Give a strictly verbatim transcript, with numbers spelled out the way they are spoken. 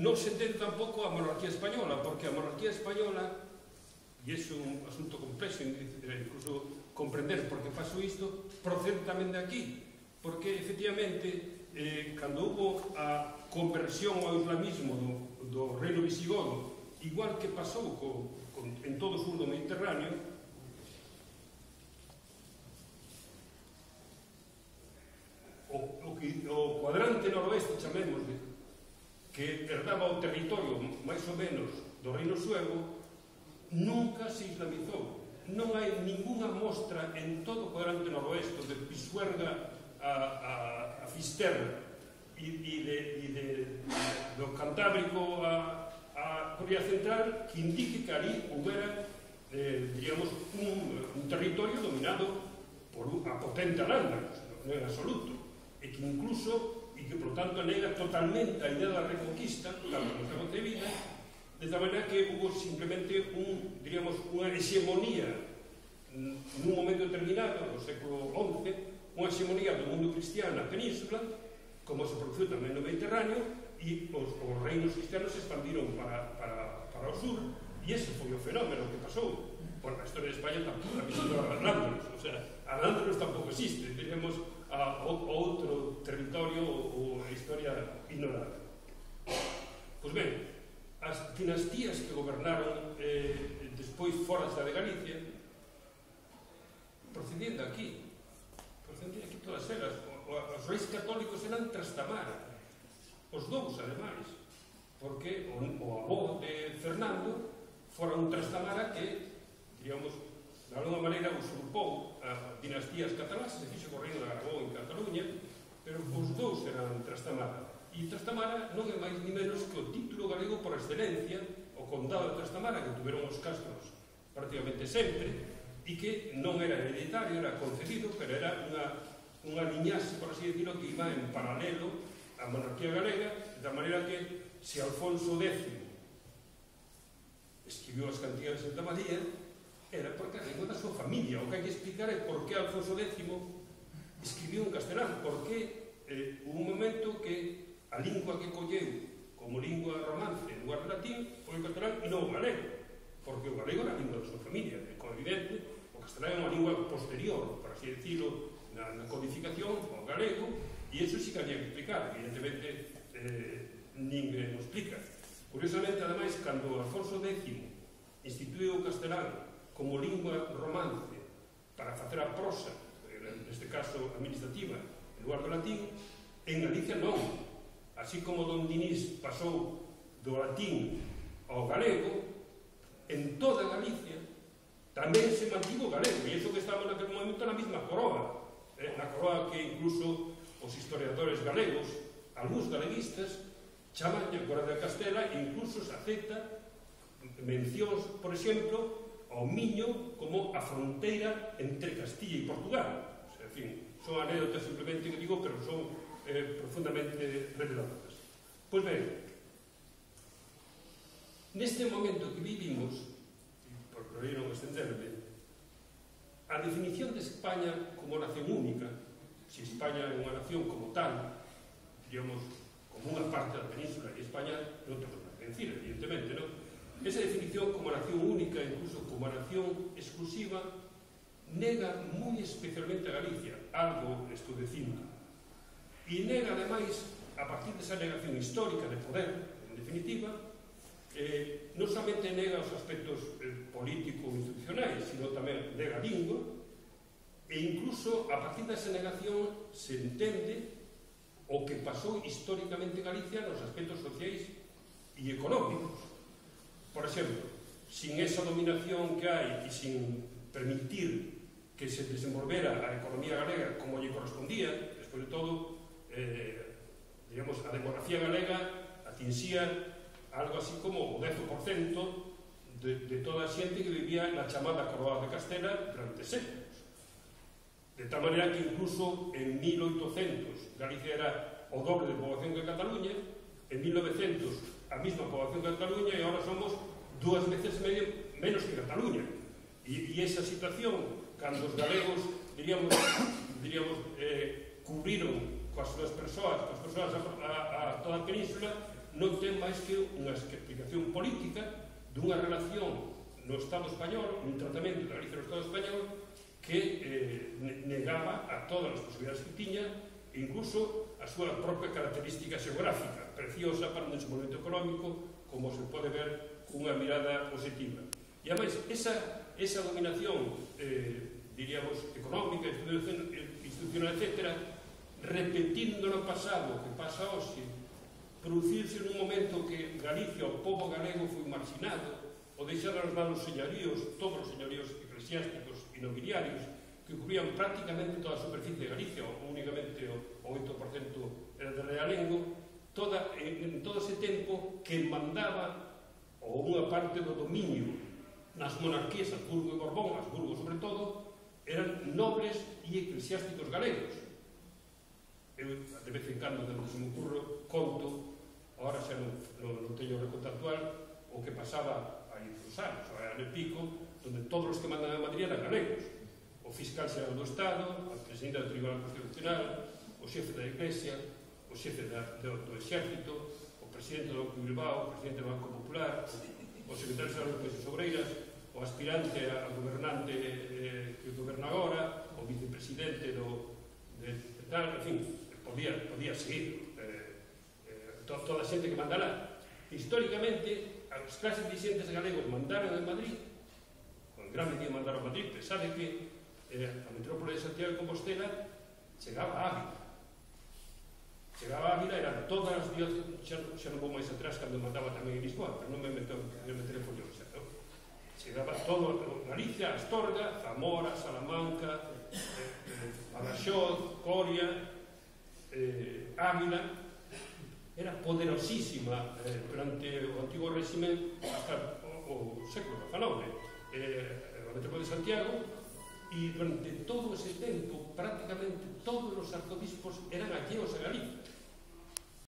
non se entende tampouco a monarquía española, porque a monarquía española, e é un asunto complexo, incluso comprender por que pasou isto, procede tamén de aquí, porque efectivamente, eh, cando hubo a conversión ao islamismo do, do reino visigodo, igual que pasou co, con, en todo o sur do Mediterráneo, o, o, o cuadrante noroeste, chamémosle, que herdaba o territorio máis ou menos do reino suevo, nunca se islamizou. Non hai ninguna mostra en todo o cuadrante noroeste, de Pisuerga a, a, a Fisterra e, e, de, e de, do Cantábrico a, a Corea Central, que indique que ali houbera, eh, diríamos, un, un territorio dominado por a potente Alanda, non en absoluto, e que incluso e que, por tanto, nega totalmente a idea da reconquista, tal como está concebida, de tal manera que hubo simplemente un, diríamos, unha hegemonía nun momento determinado, no século once, unha hegemonía do mundo cristiano na península, como se produciu tamén no Mediterráneo, e os, os reinos cristianos se expandiron para, para, para o sur, e ese foi o fenómeno que pasou. Bueno, a historia de España tampouco existe a Al-Ándalus, o sea, Al-Ándalus tampouco existe, tenemos a, a outro territorio ou a historia ignorada. Pois ben, as dinastías que gobernaron eh, despois fora da de Galicia procedían de aquí, procedían de aquí todas elas. Os reis católicos eran Trastamara, os dous ademais, porque o, o avó de Fernando fora un Trastamara que, diríamos, de alguma maneira usurpou a dinastías catalás, se fixo co reino de Aragón en Cataluña, pero os dous eran Trastamara. E Trastamara non é máis ni menos que o título galego por excelencia, o condado de Trastamara, que tuveron os castros prácticamente sempre, e que non era hereditario, era concedido, pero era unha, unha liñaxe, por así decirlo, que iba en paralelo á monarquía galega, de maneira que se Alfonso décimo escribiu as cantigas de Santa María, era porque a lengua da súa familia. O que hai que explicar é por que Alfonso décimo escribiu en castelán, porque eh, hubo un momento que a lingua que colleu como lingua romance en lugar de latín foi o castelán e non o galego, porque o galego era a lingua da súa familia. É evidente, o castelán é unha lingua posterior, por así decirlo, na, na codificación ao galego, e iso sí que había que explicar. Evidentemente, eh, ninguén o explica. Curiosamente, ademais, cando Alfonso décimo instituiu o castelán como lingua romance para facer a prosa, neste caso administrativa, en lugar do latín, en Galicia non. Así como Don Dinís pasou do latín ao galego, en toda Galicia tamén se mantivo o galego, e iso que estaba naquele momento na mesma coroa, eh, na coroa que incluso os historiadores galegos, algúns galeguistas, chaman a Coroa de Castela, e incluso se acepta mencións, por exemplo, ao Miño como a fronteira entre Castilla e Portugal. O sea, en fin, son anécdotas simplemente que digo, pero son eh, profundamente reveladoras. Pois ben, neste momento que vivimos, por non extenderme, a definición de España como nación única, se España é unha nación como tal, digamos, como unha parte da península, e España non ten nada que decir, evidentemente, non? Esa definición como nación única, incluso como nación exclusiva, nega moi especialmente a Galicia, algo estou dicindo, e nega, ademais, a partir desa negación histórica de poder, en definitiva, eh, non somente nega os aspectos eh, político-institucionais, sino tamén nega a lingua, e incluso a partir desa negación se entende o que pasou históricamente en Galicia nos aspectos sociais e económicos. Por exemplo, sin esa dominación que hai e sin permitir que se desenvolvera a economía galega como lle correspondía, despois de todo, eh, digamos, a demografía galega atinxía algo así como o dez por cento de, de toda a xente que vivía na chamada Coroa de Castela durante séculos. De tal maneira que incluso en mil oitocentos Galicia era o doble de poboación que Cataluña, en mil novecientos a mesma poboación que Cataluña, e agora somos dúas veces medio menos que Cataluña. E, e esa situación, cando os galegos, diríamos, diríamos eh, cubriron coas súas persoas, coas persoas a, a, a toda a península, non ten máis que unha explicación política dunha relación no Estado español, un tratamento da Galicia no Estado español que eh, negaba a todas as posibilidades que tiña, e incluso a súa propia característica xeográfica, preciosa para un desenvolvemento económico, como se pode ver cunha mirada positiva. E, ademais, esa, esa dominación, eh, diríamos, económica, institucional, etcétera, repetindo no pasado, que pasa hoxe, producirse nun momento que Galicia, o povo galego, foi marginado, o deixar aos manos señoríos, todos os señoríos eclesiásticos e nobiliarios, que cubrían prácticamente toda a superficie de Galicia, ou únicamente o oito por cento era de realengo, toda, en, en todo ese tempo que mandaba, ou unha parte do dominio nas monarquías, Habsburgo e Borbón, Habsburgo sobre todo, eran nobles e eclesiásticos galegos. Eu, de vez en cando, cando se me ocurre, conto, agora xa non, non, non teño reconto actual, o que pasaba aí dos anos, o ano e pico, onde todos os que mandan a Madrid eran galegos. O fiscal xeral do Estado, a presidenta do Tribunal Constitucional, o xefe da Iglesia, o xefe da, do, do Exército, o presidente do Banco de Bilbao, o presidente do Banco Popular, o secretario xeral das Coisas Obreiras, o aspirante a gobernante eh, que goberna agora, o vicepresidente do, de, de tal, en fin, podía, podía seguir eh, eh, to, toda a xente que manda lá. Históricamente, as clases dirigentes galegos mandaron en Madrid, en gran medida mandaron en Madrid, pero sabe que eh, a metrópole de Santiago de Compostela chegaba a Ávila. Chegaba a Ávila, eran todas as dióceses, xa, xa non vou máis atrás cando mandaba tamén en Lisboa, pero non me meto en meter en follón xa, non? Chegaba todo, Galicia, Astorga, Zamora, Salamanca, eh, eh, Badaxoz, Coria, eh, Ávila. Era poderosísima eh, durante o antigo réxime hasta o, o século diecinueve, eh, a metrópole de Santiago, e durante todo ese tempo prácticamente todos os arzobispos eran alleos a Galicia.